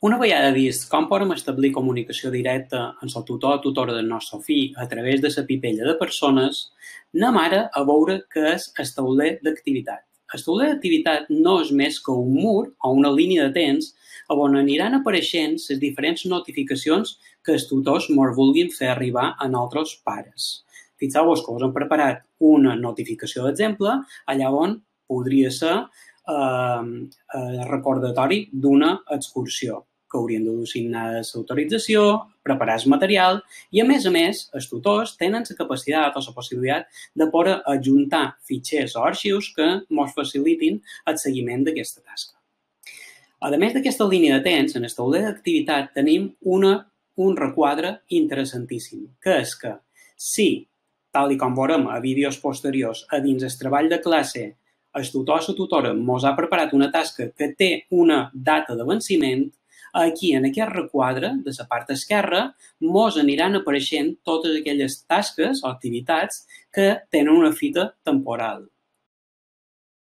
Una vegada vist com podem establir comunicació directa amb el tutor o tutora del nostre fill a través de la pipella de persones, anem ara a veure què és el tauler d'activitat. El tauler d'activitat no és més que un mur o una línia de temps on aniran apareixent les diferents notificacions que els tutors ens vulguin fer arribar a nosaltres pares. Fixeu-vos que us hem preparat una notificació d'exemple, allà on podria ser recordatori d'una excursió, que haurien de signar l'autorització, preparar el material i, a més, els tutors tenen la capacitat o la possibilitat de poder adjuntar fitxers o arxius que ens facilitin el seguiment d'aquesta tasca. A més d'aquesta línia de temps, en el tauler d'activitat tenim un requadre interessantíssim, que és que si, tal com veurem a vídeos posteriors, a dins el treball de classe, el tutor o la tutora ens ha preparat una tasca que té una data de venciment, aquí, en aquest requadre, de la part esquerra, ens aniran apareixent totes aquelles tasques o activitats que tenen una fita temporal.